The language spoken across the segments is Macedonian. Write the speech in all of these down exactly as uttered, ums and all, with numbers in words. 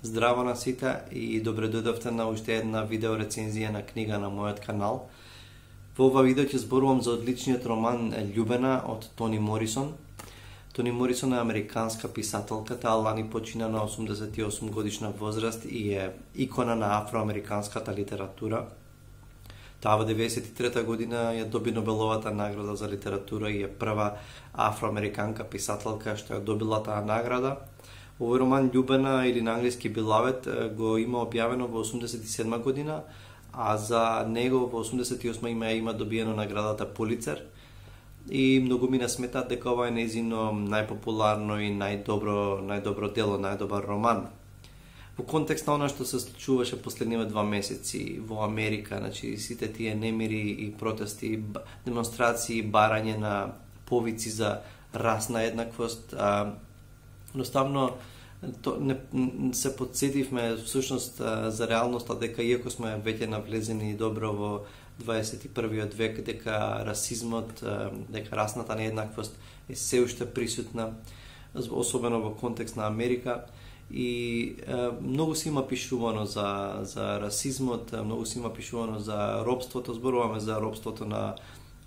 Здраво на сите и добре дојдовте на уште една видео рецензија на книга на мојот канал. Во ова видео ќе зборувам за одличниот роман Љубена од Тони Морисон. Тони Морисон е американска писателка, таа лани почина на осумдесет и осум годишна возраст и е икона на афроамериканската литература. Таа во деветдесет и трета година ја доби Нобеловата награда за литература и е прва афроамериканка писателка што ја добила таа награда. Овој роман Љубена или на англиски Beloved го има објавено во осумдесет и седма година, а за него во осумдесет и осма има има добиено наградата Пулицер. И многу ми сметаат дека ова е нејзино најпопуларно и најдобро најдобро дело, најдобар роман. Во контекст на она што се случуваше последниве два месеци во Америка, значи сите тие немири и протести, демонстрации, барање на повици за расна еднаквост, а, едноставно то, не, се подсетивме всушност за реалноста дека иако сме веќе навлезени добро во дваесет и првиот век, дека расизмот, дека расната нееднаквост е се уште присутна, особено во контекст на Америка. И е, многу се има пишувано за, за расизмот, многу се има пишувано за робството, зборуваме за робството на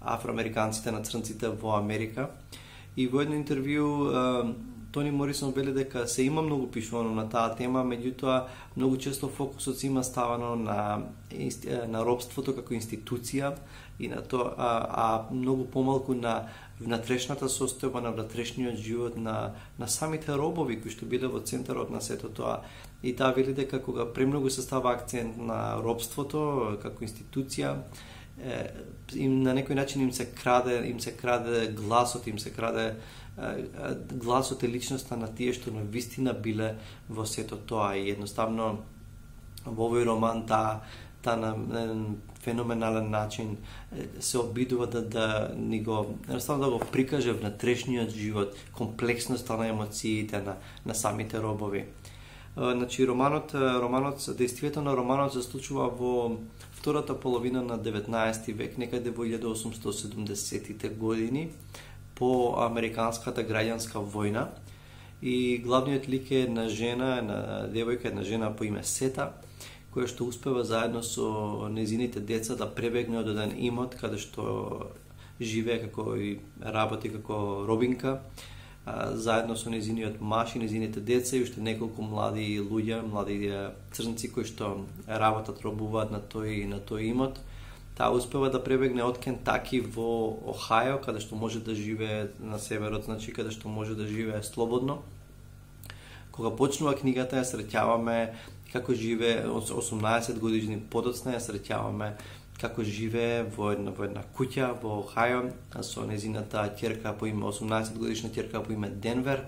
афроамериканците, на црнците во Америка. И во едно интервју е, Тони Морисон вели дека се има многу пишувано на таа тема, меѓутоа многу често фокусот се има ставано на на робството како институција и на тоа, а, а многу помалку на внатрешната состојба, на внатрешниот живот на на самите робови кои што биле во центарот на сето тоа. И таа вели дека кога премногу се става акцент на робството како институција, е, им на некој начин им се краде, им се краде гласот, им се краде гласот е личноста на тие што на вистина биле во сето тоа. И едноставно во овој роман таа та на феноменален начин се обидува да, да ни го, едноставно да го прикаже внатрешниот живот, комплексноста на емоциите на, на самите робови. Значи, романот, романот, действието на романот се случува во втората половина на деветнаесети век, некаде во илјада осумстотини и седумдесетите години, по американската граѓанска војна. И главниот лик е една жена, една девојка, една жена по име Сета, која што успева заедно со незините деца да пребегне од еден имот каде што живее како и работи како робинка, заедно со незиниот маж и незините деца и уште неколку млади луѓе, млади црнци кои што работат, робуваат на тој на тој имот. Таа успева да пребегне од Кентаки во Охајо, каде што може да живее на северот, значи каде што може да живее слободно. Кога почнува книгата, ја среќаваме како живее, осумнаесет години подоцна ја среќаваме како живее во една во една куќа во Охајо со незината ќерка по име осумнаесет годишна ќерка по име Денвер.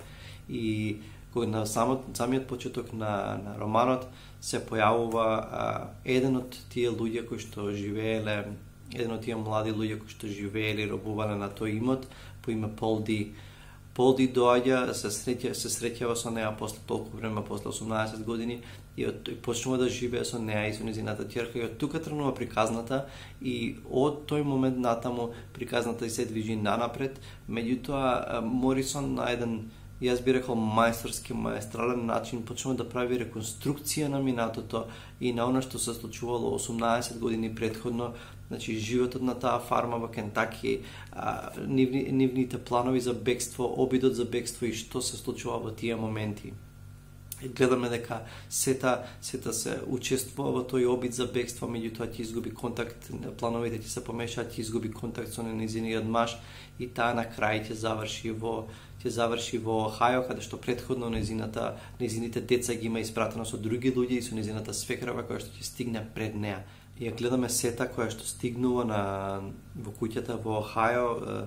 И кога на самот, самиот почеток на, на романот се појавува а, еден од тие луѓе кои што живееле, еден од тие млади луѓе кои што живееле и робувале на тој имот по име Пол Ди. Пол Ди доаѓа, се среќа, се среќава со неа после толку време, после осумнаесет години и, од, и почнува да живее со неа и со незината ќерка и од тука тргнува приказната и од тој момент натаму приказната и се движи нанапред. Меѓутоа Морисон на еден, јас би рекол, мајсторски, маестрален начин почнува да прави реконструкција на минатото и на она што се случувало осумнаесет години претходно, значи животот на таа фарма во Кентаки, а, нивни, нивните планови за бегство, обидот за бегство и што се случува во тие моменти. И гледаме дека сета сета се учествува во тој обид за бегство, меѓутоа ќе изгуби контакт, плановите ќе се помешаат, ќе изгуби контакт со незиниот маж и таа на крај ќе заврши во ќе заврши во Охајо, каде што претходно незината незините деца ги има испратено со други луѓе и со незината свекрва која што ќе стигне пред неа. И ја гледаме Сета која што стигнува на во куќата во Охајо,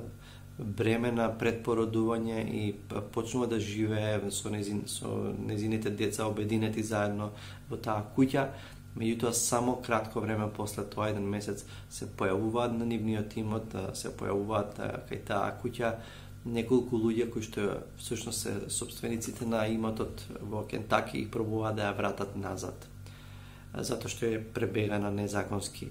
бремена пред породување и почнува да живее со незин со незините деца обединети заедно во таа куќа. Меѓутоа само кратко време после тоа, еден месец, се појавуваат на нивниот имот, се појавуваат кај таа куќа неколку луѓе кои што всушност се собствениците на имотот во Кентаки и пробуваат да ја вратат назад, затоа што е пребегана незаконски.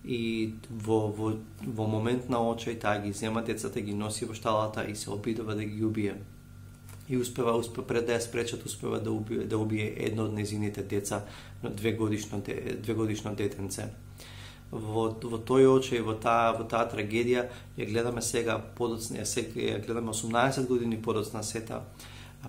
И во, во, во момент на очај таа ги зема децата, ги носи во шталата и се обидува да ги убие. и успева, успева пред да ја спречат, успева да убие, да убие едно од незините деца, две годишно, две годишно детенце. Во, во тој очај, во таа, во таа трагедија, ја гледаме сега подоцна, ја гледаме осумнаесет години подоцна сета,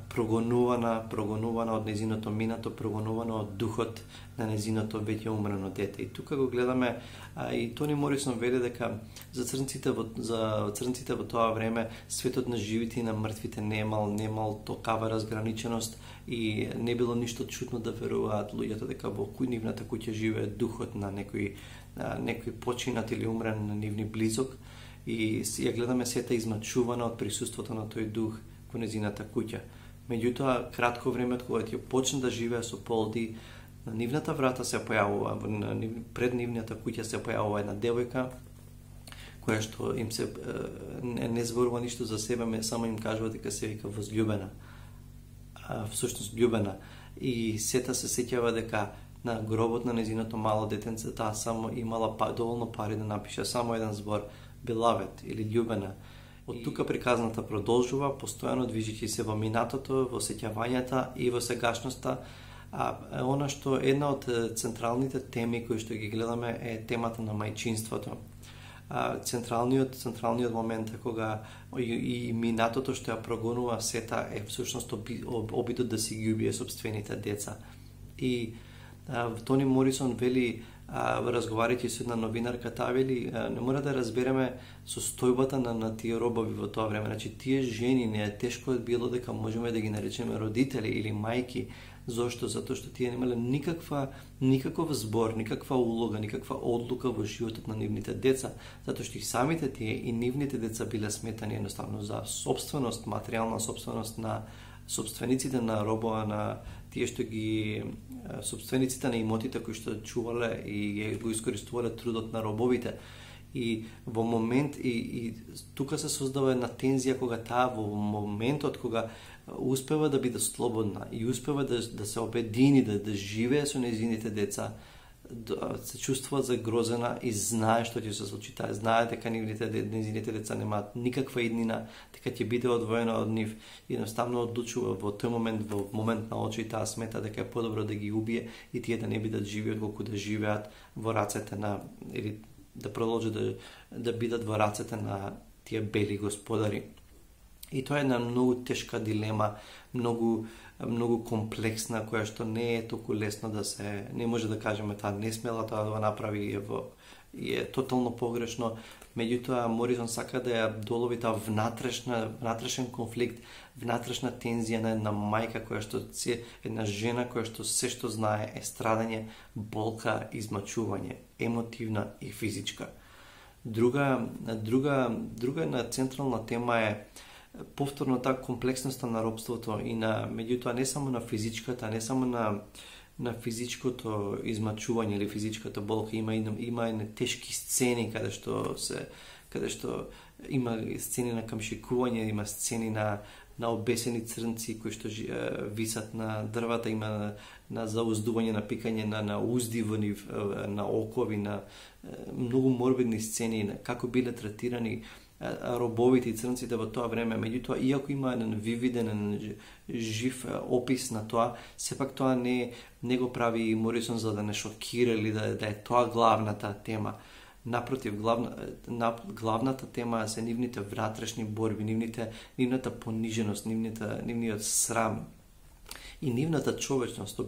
прогонувана, прогонувана од незиното минато, прогонувана од духот на незиното веќе умрено дете. И тука го гледаме, а, и Тони Морисон веле дека за црнците во, за црнците во тоа време светот на живите и на мртвите немал, немал токава разграниченост и не било ништо чудно да веруваат луѓето дека во нивната куќа живее духот на некој, на некој починат или умрен на нивни близок, и ја гледаме сета измачувана од присуството на тој дух во незината куќа. Меѓутоа, кратко време од кога ќе почне да живее со Полди, на нивната врата се појавува, на нив, пред нивната куќа се појавува една девојка, која што им се не, не зборува ништо за себе, ме само им кажува дека се вика возлюбена, а, всушност љубена. И сета се сеќава дека на гробот на незиното мало детенце таа само имала па, доволно пари да напише само еден збор, beloved или љубена. Од тука приказната продолжува, постојано движејќи се во минатото, во сеќавањата и во сегашноста. А она што една од централните теми кои што ги гледаме е темата на мајчинството. А, централниот централниот момент е кога и, и минатото што ја прогонува сета е всушност обидот да си ги убие собствените деца. И а, Тони Морисон вели, а, разговарајќи со една новинарка, таа вели, а, не мора да разбереме состојбата на, на тие робови во тоа време. Значи, тие жени не е тешко било дека можеме да ги наречеме родители или мајки. Зошто? Затоа што тие немале никаква, никаков збор, никаква улога, никаква одлука во животот на нивните деца, затоа што и самите тие и нивните деца биле сметани едноставно за собственост, материјална собственост на собствениците на робова, на тие што ги собствениците на имотите кои што чувале и го искористувале трудот на робовите. И во момент и, и тука се создава една тензија кога таа во моментот кога успева да биде слободна и успева да, да се обедини, да, да живее со незините деца, да се чувствува загрозена и знае што ќе се случи. Таа знае дека нивните незините деца немаат никаква иднина, дека ќе биде одвоена од нив и едноставно одлучува во тој момент, во момент на очи, таа смета дека е подобро да ги убие и тие да не бидат живи отколку да живеат во рацете на, или да продолжат да, да бидат во рацете на тие бели господари. И тоа е една многу тешка дилема, многу многу комплексна, која што не е толку лесно да се, не може да кажеме таа не смела тоа да го направи и е, во, и е тотално погрешно. Меѓутоа Морисон сака да ја долови таа внатрешна, внатрешен конфликт, внатрешна тензија на една мајка која што се, една жена која што се што знае е страдање, болка, измачување, емотивна и физичка. Друга друга друга една централна тема е повторно таа комплексноста на робството и на, меѓутоа не само на физичката, не само на на физичкото измачување или физичката болка, има има и тешки сцени каде што се каде што има сцени на камшикување, има сцени на на обесени црнци кои што висат на дрвата, има на, на зауздување, на пикање на на узди во нив, на окови, на многу морбидни сцени, на како биле третирани робовите и црнците во тоа време. Меѓутоа, иако има еден вивиден, жив опис на тоа, сепак тоа не не го прави Морисон за да не шокира или да, да е тоа главната тема. Напротив, главна, на, главната тема се нивните внатрешни борби, нивните, нивната пониженост, нивната, нивниот срам и нивната човечност.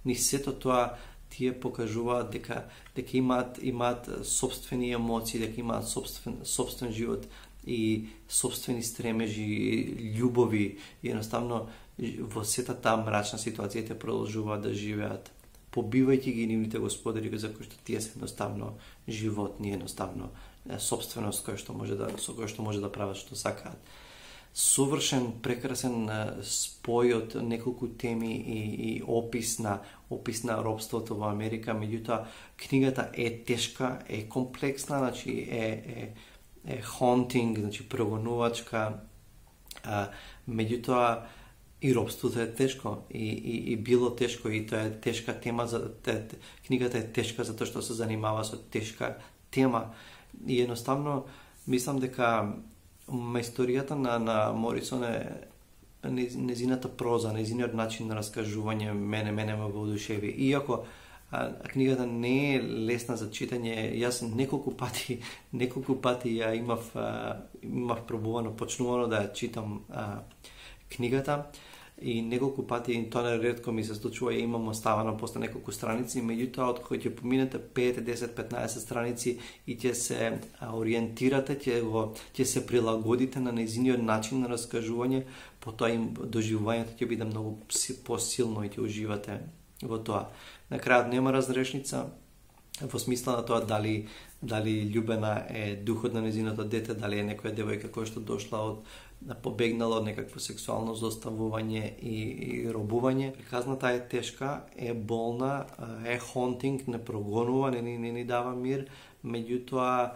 Ни сето тоа тие покажуваат дека дека имаат имаат собствени емоции, дека имаат собствен собствен живот и собствени стремежи, љубови, и едноставно во сета таа мрачна ситуација те продолжуваат да живеат, побивајќи ги нивните господари за кои што тие се едноставно животни, едноставно собственост која што може да со која што може да прават што сакаат. Совршен, прекрасен спој од неколку теми и, и опис на опис на робството во Америка. Меѓутоа, книгата е тешка, е комплексна, значи е е е haunting, значи прогонувачка. А, меѓутоа и робството е тешко и, и, и било тешко и тоа е тешка тема за те, книгата е тешка затоа што се занимава со тешка тема и едноставно мислам дека мајсторијата на, на Морисон е незината проза, незиниот начин на раскажување мене мене ме воодушеви. Иако а, книгата не е лесна за читање, јас неколку пати, неколку пати ја имав а, имав пробувано, почнувано да ја читам а, книгата и неколку пати, тоа ретко ми се случува, ја имам оставано после неколку страници, меѓутоа од кои ќе поминете пет, десет, петнаесет страници и ќе се ориентирате, ќе го ќе се прилагодите на незиниот начин на раскажување, потоа им доживувањето ќе биде многу посилно и ќе уживате во тоа. На крајот нема разрешница во смисла на тоа дали дали Љубена е духот на незиното дете, дали е некоја девојка која што дошла од побегнала од некакво сексуално злоставување и, и робување. Приказната е тешка, е болна, е хонтинг, не прогонува, не, не, не ни дава мир, меѓутоа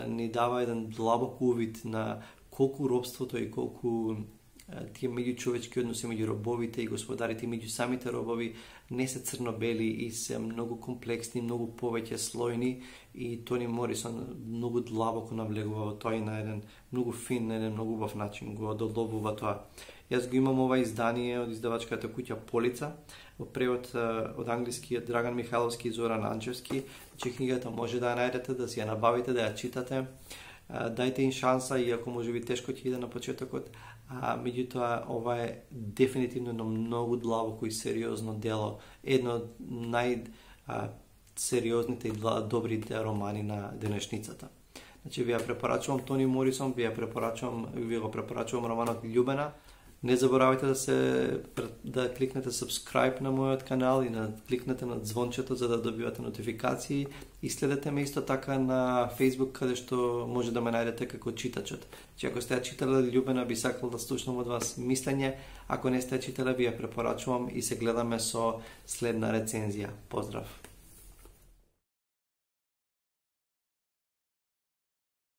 ни дава еден длабок увид на колку робството и колку тие меѓучовечки односи меѓу робовите и господарите, меѓу самите робови не се црно-бели и се многу комплексни, многу повеќе слојни, и Тони Морисон многу длабоко навлегува во тоа и на еден многу фин, на еден многу убав начин го одоловува тоа. Јас го имам ова издание од издавачката куќа Полица, во превод од англиски Драган Михайловски и Зоран Анчевски. Че книгата може да ја најдете, да си ја набавите, да ја читате. Дајте им шанса, иако може би тешко ќе иде на почетокот, а меѓутоа ова е дефинитивно едно многу длабоко и сериозно дело, едно од најсериозните и добрите романи на денешницата. Значи ви ја препорачувам Тони Морисон, ви ја препорачувам, ви го препорачувам романот Љубена. Не заборавајте да се да кликнете subscribe на мојот канал и да кликнете на звончето за да добивате нотификации, и следете ме исто така на Facebook, каде што може да ме најдете како читачот. Че ако сте ја читале Љубена, би сакал да слушнам од вас мислење, ако не сте ја читале, ви ја препорачувам и се гледаме со следна рецензија. Поздрав!